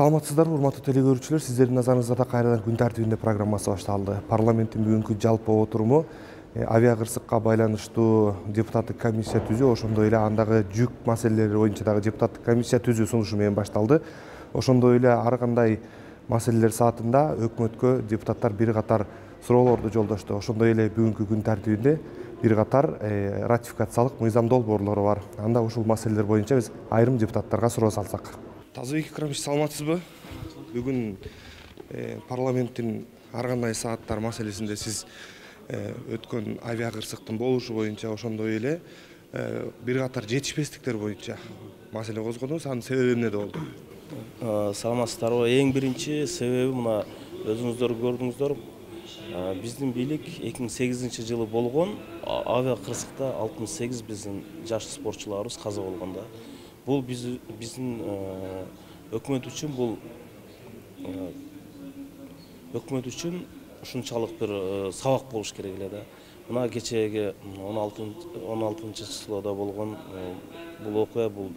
Саламатсыздарбы, урматтуу теле көрүүчүлөр, сиздердин назарыңызда кайрадан күн тартибинде программасы башталды. Парламенттин бүгүнкү жалпы отуруму авиа кырсыкка байланыштуу депутаттык комиссия түзүү, ошондой эле андагы жүк маселелери боюнча дагы депутаттык комиссия түзүү сунушу менен башталды. Ошондой эле ар кандай маселелер саатында өкмөткө депутаттар бир катар суроолорду жолдошту. Ошондой эле бүгүнкү күн тартибинде бир катар ратификациялык мыйзам долбоорлору бар. Анда ушул маселелер боюнча биз айрым депутаттарга суроо салсак. Тазыбек Икрамович, саламатсызбы? Бүгүн парламенттин ар кандай сааттар маселесинде сиз өткөн авиа кырсыктын болушу боюнча, ошондой эле бир катар жетишпестиктер боюнча маселе козгодуңуз. Анын себеби эмнеде болду? Саламатсыздарбы? Эң биринчи себеби мына өзүңүздөр көрдүңүздөр, биздин бийлик 2008 жылы болгон авиа кырсыкта 68 биздин жаш спортчуларыбыз каза болгондо. Бул биздин өкмөт үчүн ушунчалык бир сабак болуш керек эле да. Мына кечеги 16 числода болгон бул окуя бул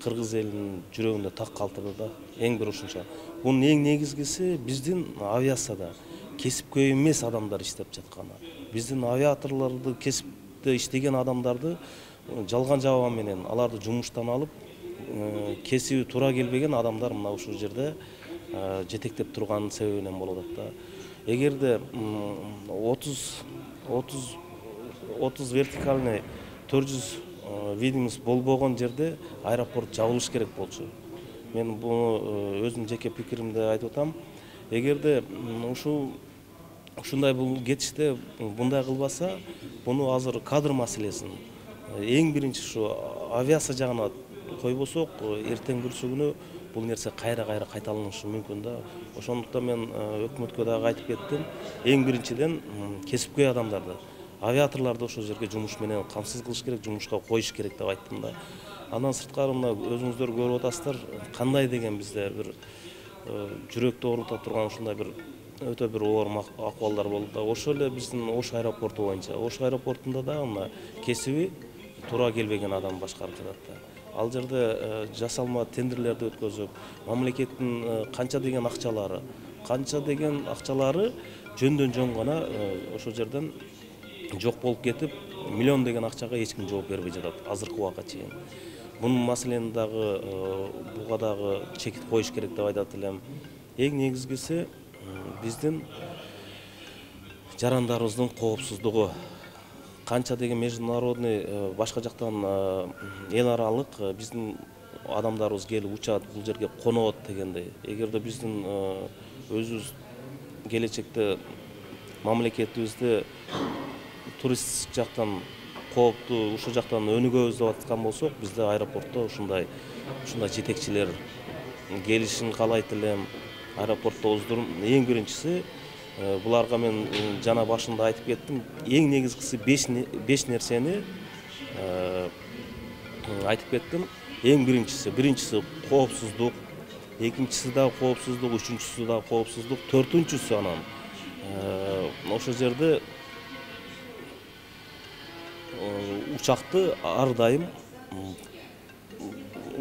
кыргыз элинин жүрөгүндө так калтырды да. Эң бир ушунча. Бунун эң негизгиси биздин авиацияда кесипкөй эмес адамдар иштеп жатканы. Биздин авиаторлорду, кесипте иштеген адамдарды жалган жаба менен аларды жумуштан алып, кесиби туура келбеген адамдар мына ушул жерде жетектеп турганын себебинен болуп атат да. Эгерде 30 вертикальный 400 видимость болбогон жерде аэропорт жабылыш керек болчу. Мен буну өзүмдүн жеке пикиримде айтып атам. Эгерде ушундай бул кетиште мындай кылбаса, буну азыр кадр маселесин эң биринчи ушу авиация жагына койбосок, эртең бүрсүгүнү бул нерсе кайра кайталанышы мүмкүн да. Ошондуктан мен өкмөткө дагы айтып кеттим. Эң биринчиден кесипкөй адамдарды, авиаторлорду ошол жерге жумуш менен камсыз кылыш керек, жумушка коюш керек деп айттым да. Андан сырткары мына өзүңүздөр көрүп атасыздар, кандай деген бизде бир жүрөктү оорута турган ушундай бир өтө бир оор акыбалдар болду да. Ошол эле биздин Ош аэропорту боюнча. Ош аэропортунда дагы мына кесиби туура келбеген адам башкарып жатат да. Ал жерде жасалма тендерлерди өткөзүп, мамлекеттин канча деген акчалары жөндөн жөн гана ошол жерден жок болуп кетип, миллион деген акчага эч ким жооп бербей жатат азыркы убакка чейин. Бунун маселени дагы буга дагы чекит коюш керек деп айтат элем. Эң негизгиси биздин жарандарыбыздын коопсуздугу. Канча деген международный башка жактан эл аралык биздин адамдарыбыз келип учат, бул жерге конот дегендей. Эгерде биздин өзүбүз келечекте мамлекетибизди туристтик жактан кооптуу, ушул жактан өнүгөбүз деп аткан болсок, бизде аэропортто ушундай жетекчилер келишин каалайт элем. Аэропортто оздурум. Эң биринчиси буларга мен жана башында айтып кеттим. Эң негизгиси 5 нерсени айтып кеттим. Эң биринчиси коопсуздук, экинчиси дагы коопсуздук, үчүнчүсү дагы коопсуздук, төртүнчүсү анан ошол жерде учакты ар дайым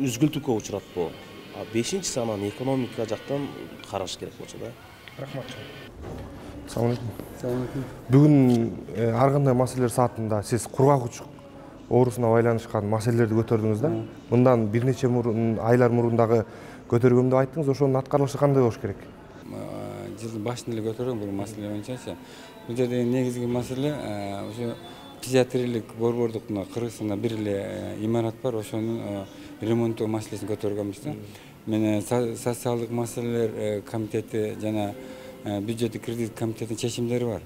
үзгүлтүккө учуратпоо. А бешинчиси анан экономика жактан караш керек болчу да. Рахмат. Салам алейкум. Бүгүн ар кандай маселелер саатында сиз кургак учук оорусуна байланышкан маселелерди көтөрдүңүз да. Мындан бир нече айлар мурун дагы көтөргөм деп айттыңыз. Ошонун аткарылышы кандай болуш керек? Жылдын башында эле көтөргөн бул маселе боюнча. Бул жерде негизги маселе ошо психиатриялык борбордук Кыргызстанда бир эле имарат бар, ошонун ремонттоо маселесин көтөргөнбүз да. Мен социалдык маселелер комитети жана бюджеттик кредит комитетинин чечимдери бар.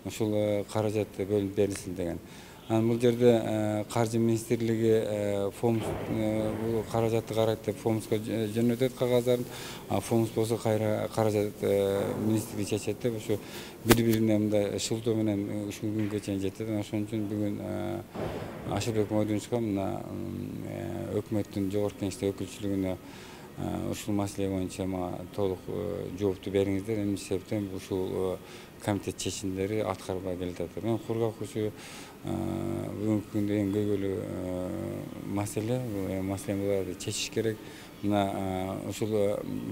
Ушул каражат бөлүнүп берилсин деген. Анан бул жерде каржы министрлиги фонд бул каражатты карайт деп фондко жөнөтөт кагаздарын, а фонд болсо кайра каражат министрлиги чечет деп ошо бири-бирине мындай шылтоо менен ушул күнгө чейин жетет. Ошон үчүн бүгүн Ашылбек Мойдунчукка мына өкмөттүн жогорку кеңештеги өкүлчүлүгүнө ушул маселе боюнча мага толук жоопту бериңиздер. Эмне себептен ушул комитет чечимдери аткарбай келатат. Мен кургак ушу бүгүнкү күндө эң көйгөйлүү маселе буларды чечиш керек. Мына ушул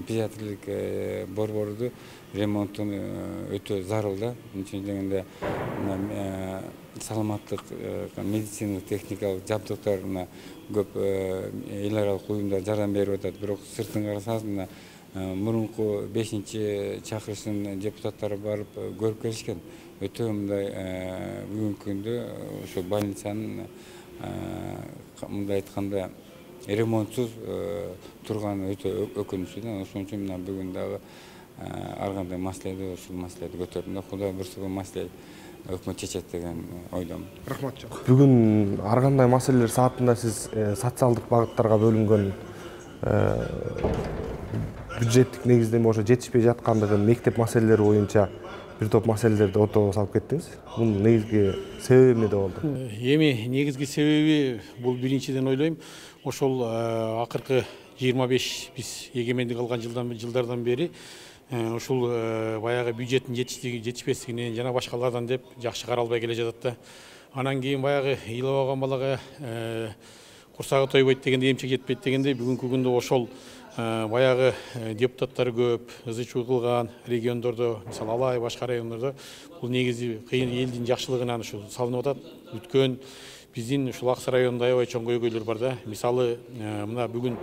педиатрлик борборду ремонтун өтө зарыл да. Үчүн дегенде саламаттык медициналык техникалык жабдыктар көп эл аралык уюмдар жардам берип атат. Бирок сыртын карасаңыз мына мурунку 5-чакырыштын депутаттары барып көрүп келишкен. Өтө мындай бүгүнкү күндө ошо больницанын мындай айтканда ремонтсуз турганы өтө өкүнүчтүү да. Ошон үчүн мына бүгүн дагы ар кандай маселеде ушул маселени көтөрдүм да. Кудай буюрса бул маселе өкмөт чечет деген ойдомун. Рахмат жок. Бүгүн ар кандай маселелер саатында сиз социалдык багыттарга бөлүнгөн бюджеттик негиздеме ошо жетишпей жаткандыгын, мектеп маселелери боюнча бир топ маселелерди ортого салып кеттиңиз. Бунун негизги себеби эмнеде болду? Эми негизги себеби бул биринчиден ойлойм, ошол акыркы 25 биз эгемендик алган жылдардан бери ушул баягы бюджеттин жетишпестигинен жана башкалардан деп жакшы каралбай келе жатат да. Анан кийин баягы ыйлабаган балага курсагы тойбойт дегенде эмчек жетпейт дегендей бүгүнкү күндө ошол баягы депутаттар көп, ызы чуу кылган региондордо, мисалы Алай башка райондордо бул негизи кыйын элдин жакшылыгынан ушул салынып атат. Бүткөн биздин ушул Аксы районунда аябай чоң көйгөйлөр бар да. Мисалы мына бүгүн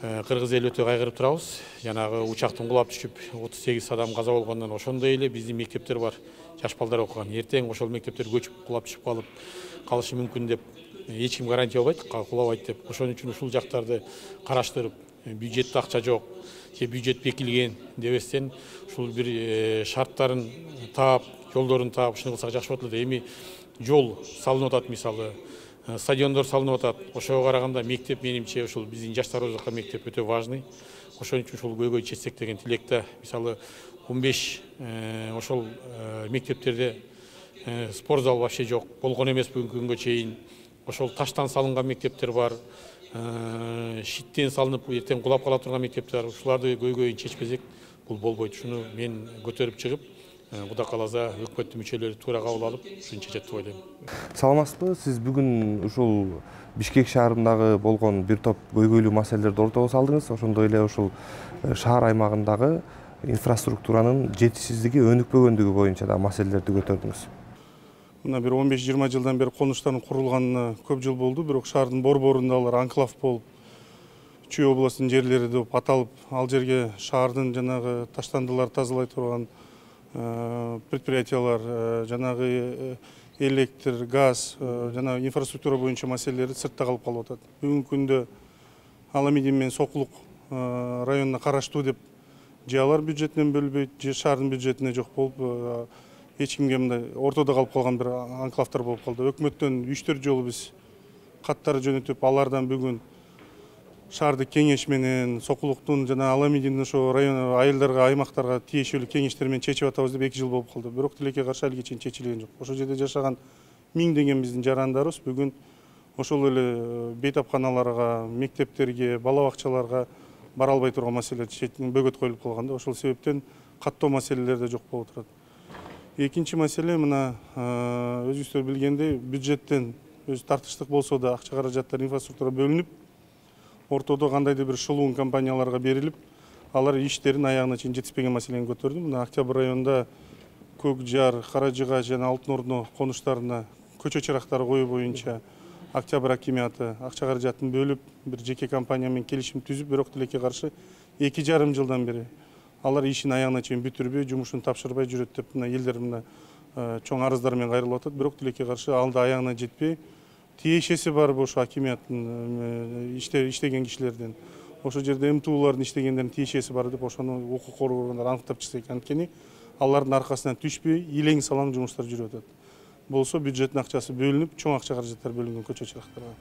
кыргыз эл өтө кайгырып турабыз. Жанагы учактын кулап түшүп 38 адам каза болгондон ошондой эле биздин мектептер бар. Жаш балдар окуган. Эртең ошол мектептер көчүп кулап түшүп калышы мүмкүн деп эч ким гарантия албайт, кулабайт деп. Ошон үчүн ушул жактарды караштырып, бюджетте акча жок, же бюджет бекилген дебестен ушул бир шарттарын таап, жолдорун таап ушуну кылсак жакшы болот эле. Эми жол салынып атат, мисалы стадиондор салынып атат. Ошого караганда мектеп менимче ушул биздин жаштарыбызга мектеп өтө важный. Ошон үчүн ушул көйгөй чечсек деген тилекте. Мисалы 15 ошол мектептерде спорт зал вообще жок, болгон эмес бүгүнкү күнгө чейин. Ошол таштан салынган мектептер бар, шиттен салынып эртең кулап кала турган мектептер бар. Ушуларды көйгөйүн чечпесек бул болбойт. Ушуну мен көтөрүп чыгып, Кудай кааласа өкмөттүн мүчөлөрү туура кабыл алып, ушуну чечет деп ойлойм. Саламатсызбы? Сиз бүгүн ушул Бишкек шаарындагы болгон бир топ көйгөйлүү маселелерди ортого салдыңыз. Ошондой эле ушул шаар аймагындагы инфраструктуранын жетишсиздиги, өнүкпөгөндүгү боюнча да маселелерди көтөрдүңүз. Мына бир 15-20 жылдан бери конуштардын курулганына көп жыл болду, бирок шаардын борборунда алар анклав болуп, Чүй областынын жерлери деп аталып, ал жерге шаардын жанагы таштандыларды тазалай турган предприятиялар, жанагы электр, газ, жанагы инфраструктура боюнча маселелери сыртта калып атат. Бүгүнкү күндө Аламидин менен Сокулук районуна караштуу деп же алар бюджетинен бөлбөйт, же шаардын бюджетине жок болуп, эч кимге мындай ортодо калып калган бир анклавдар болуп калды. Өкмөттөн 3-4 жолу биз каттар жөнөтүп, алардан бүгүн шаардык кеңеш менен Сокулуктун жана Аламидин ошо район айылдарга, аймактарга тиешелүү кеңештер менен чечип атабыз деп 2 жыл болуп калды. Бирок тилекке каршы алиге чейин чечилген жок. Ошол жерде жашаган миңдеген биздин жарандарыбыз бүгүн ошол эле бейтапканаларга, мектептерге, бала бакчаларга бара албай турган маселе бөгөт коюлуп калган да. Ошол себептен каттоо маселелер да жок болуп турат. Экинчи маселе мына өзүңүздөр билгендей бюджеттен өз тартыштык болсо да акча каражаттар инфраструктура бөлүнүп, ортодо кандайдыр бир шылуун компанияларга берилип, алар иштерин аягына чейин жетиспеген маселени көтөрдүм. Мына Октябрь районунда Көк Жар, Каражыга жана Алтын Ордо конуштарына көчө чырактары коюу боюнча Октябрь акиматы акча каражатын бөлүп, бир жеке компания менен келишим түзүп, бирок тилекке каршы 2,5 жылдан бери алар ишин аягына чейин бүтүрбөй, жумушун тапшырбай жүрөт деп мына элдер мына чоң арыздар менен кайрылып атат. Бирок тилекке каршы алда аягына жетпей, тиешеси бар ошо акиматтын иштеген кишилерден. Ошол жерде МТУлардын иштегендердин тиешеси бар деп ошону укук коргоо органдары аныктап чыкса анткени алардын аркасынан түшпөй, илең салам жумуштар жүрүп атат. Болсо бюджеттин акчасы бөлүнүп, чоң акча каражаттар бөлүнгөн көчө чырактарга.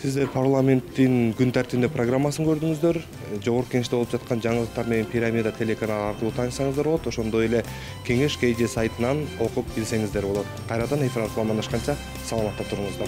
Сиздер парламенттин күн тартибинде программасын көрдүңүздөр. Жогорку Кеңеште болуп жаткан жаңылыктар менен Пирамида телеканалы аркылуу таанышсаңыздар болот. Ошондой эле Кеңеш КЖ сайтынан окуп билсеңиздер болот. Кайрадан эфир аркылуу амандашканча саламатта туруңуздар.